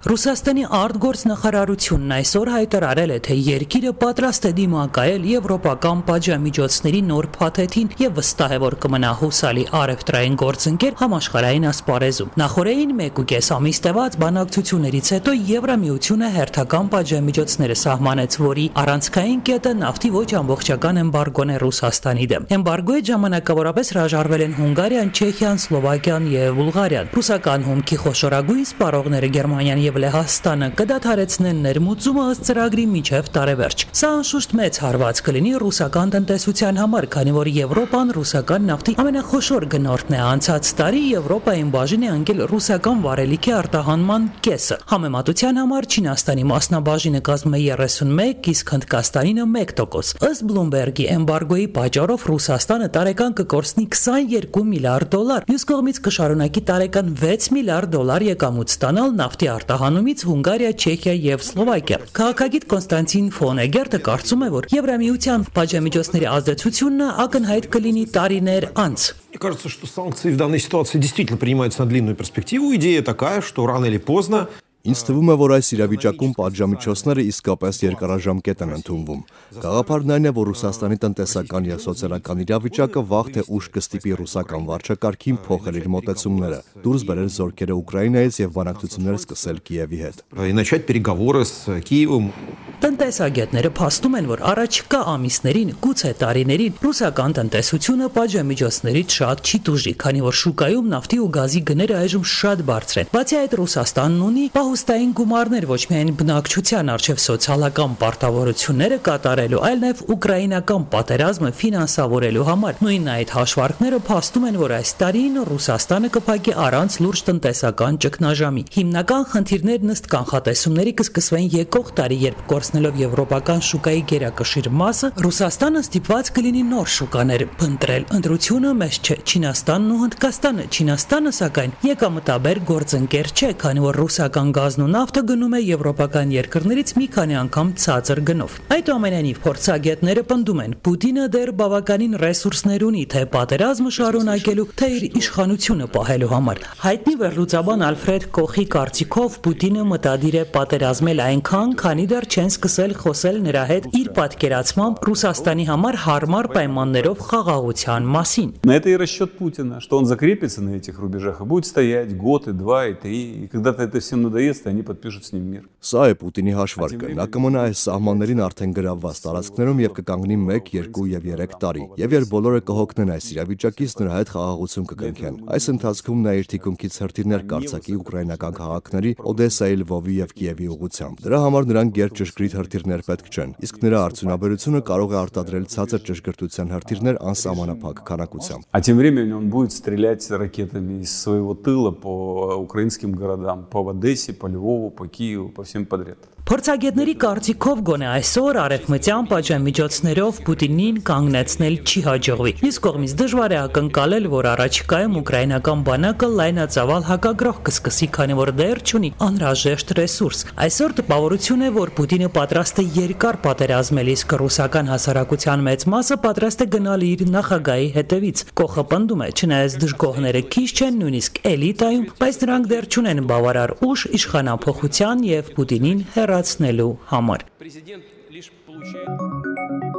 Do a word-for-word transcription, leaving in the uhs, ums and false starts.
Ռուսաստանի արտգործնախարարությունն այսօր հայտարարել է, թե երկիրը պատրաստ է դիմակայել եվրոպական պատժամիջոցների նոր փաթեթին եւ վստահ է, որ կմնա հուսալի առևտրային գործընկեր համաշխարհային ասպարեզում։ Նախորդին մեկուկես ամիս տևած բանակցություններից հետո Եվրամիությունը հերթական պատժամիջոցները սահմանեց, որի առանցքային կետը նավթի ոչ ամբողջական էմբարգոն է Ռուսաստանի դեմ։ Էմբարգոյի ժամանակավորապես հրաժարվել են Հունգարիան, Չեխիան, Սլովակիան եւ Բուլղարիան։ Ռուսական հումքի խոշորագույն սպառողները Գերմանիան և Լեհաստանը կդադարեցնեն ներմուծումը ըստ ծրագրի մինչև տարեվերջ։ Սա անշուշտ մեծ հարված կլինի ռուսական տնտեսության համար, քանի որ Եվրոպան ռուսական նավթի ամենախոշոր գնորդն է։ Անցած տարի Եվրոպային բաժին է ընկել ռուսական վարելիքի արտահանման կեսը։ Համեմատության համար Չինաստանի մասնաբաժինը կազմում է երեսունմեկ, իսկ Հնդկաստանինը մեկ տոկոս։ Ըստ Բլումբերգի էմբարգոյի պատճառով Ռուսաստանը տարեկան կկորցնի քսաներկու միլիարդ դոլար, մյուս կողմից կշարունակի տարեկան վեց միլիարդ դոլար եկամուտ ստանալ նավթի արտահանումից Հունգարիա, Չեխիա եւ Սլովակիա։ Քաղաքագիտ Կոնստանտին Ֆոնեգերտը կարծում է, որ Եվրամիության պատժամիջոցների ազդեցությունը ակնհայտ կլինի տարիներ անց։ Мне кажется, что санкции в данной ситуации действительно принимаются на длинную перспективу. Идея такая, что рано или поздно Ինձ թվում է, որ այս իրավիճակում պատժամիջոցները իսկապես երկարաժամկետ են ընդունվում։ Գաղափարն այն է, որ Ռուսաստանի տնտեսական եւ սոցիալական իրավիճակը վաղ թե ուշ կստիպի ռուսական վարչակարգին փոխել իր մոտեցումները, դուրս բերել զորքերը Ուկրաինայից եւ բանակցություններ սկսել Կիևի հետ։ И начать переговоры с Киевом. Տնտեսագետները փաստում են, որ առաջիկա ամիսներին, գուցե տարիներին ռուսական տնտեսությունը պատժամիջոցներից շատ չի տուժի, քանի որ շուկայում նավթի ու գազի գները այժմ շատ բարձր են։ Բացի այդ, Ռուսաստանն ունի պահուստային գումարներ ոչ միայն բնակչության առջև սոցիալական պարտավորությունները կատարելու, այլ նաև ուկրաինական պատերազմը ֆինանսավորելու համար։ Նույն այդ հաշվարկները փաստում են, որ այս տարին Ռուսաստանը կփակի առանց լուրջ տնտեսական ճգնաժամի։ Հիմնական խնդիրներն ըստ կանխատեսումների կսկսվեն եկող տարի, երբ կորցնելով եվրոպական շուկայի գերակշիռ մասը, Ռուսաստանը ստիպված կլինի նոր շուկաներ փնտրել։ Ընտրությունը մեծ չէ Չինաստանն ու Հնդկաստանը։ Չինաստանը, սակայն, եկամտաբեր գործընկեր չէ, քանի որ ռուսական գազն ու նավթը գնում է եվրոպական երկրներից մի քանի անգամ ցածր գնով։ Այդուամենայնիվ փորձագետները պնդում են, Պուտինը դեռ բավականին ռեսուրսներ ունի թե պատերազմը շարունակելու, թե իր իշխանությունը պահելու համար։ Հայտնի վերլուծաբան Ալֆրեդ Կոխի կարծիքով Պուտինը մտադիր է պատերազմել այնքան, քանի դեռ չեն սկսել խոսել նրա հետ իր պատկերացմամբ Ռուսաստանի համար հարմար պայմաններով խաղաղության մասին։ На это и расчет Путина, что он закрепится на этих рубежах и будет стоять год, и два, и три, и когда-то это всем надоест, и они подпишут с ним мир. Սա է Պուտինի հաշվարկը։ Նա կմնա այս սահմաններին արդեն գրավված տարածքներում եւ կկանգնի մեկ, երկու եւ երեք տարի։ Եվ երբ բոլորը կհոգնեն այս իրավիճակից, նրա հետ խաղաղություն կկնքեն։ Այս ընթացքում նա իր թիկունքից հրթիռներ կարձակի ուկրաինական քաղաքների Օդեսայի, Լվովի եւ Կիևի ուղղությամբ։ Դրա համար նրան գերճշգրիտ հրթիռներ պետք չեն, իսկ նրա արդյունաբերությունը կարող է արտադրել ցածր ճշգրտության հրթիռներ անսահմանափակ քանակությամբ։ А тем временем он будет стрелять ракетами из своего тыла по украинским городам, по Одессе, по Львову, по Киеву, по всем подряд. Փորձագետների կարծիքով գոնե այսօր արևմտյան պատժամիջոցներով Պուտինին կանգնեցնել չի հաջողվի։ Մյուս կողմից դժվար է ակնկալել, որ առաջիկայում ուկրաինական բանակը լայնածավալ հակագրող կսկսի, քանի որ դեռ չունի անհրաժեշտ ռեսուրս։ Այսօր տպավորություն է, որ Պուտինը պատրաստ է երկար պատերազմել, իսկ ռուսական հասարակության մեծ մասը պատրաստ է գնալ իր նախագահի հետևից։ Կոխը պնդում է, չնայած դժգոհները քիչ չեն, նույնիսկ էլիտայում, բայց նրանք դեռ չունեն բավարար ուժ իշխանափոխության եւ Պուտինին հեռացնելու համար։ Президент лишь получает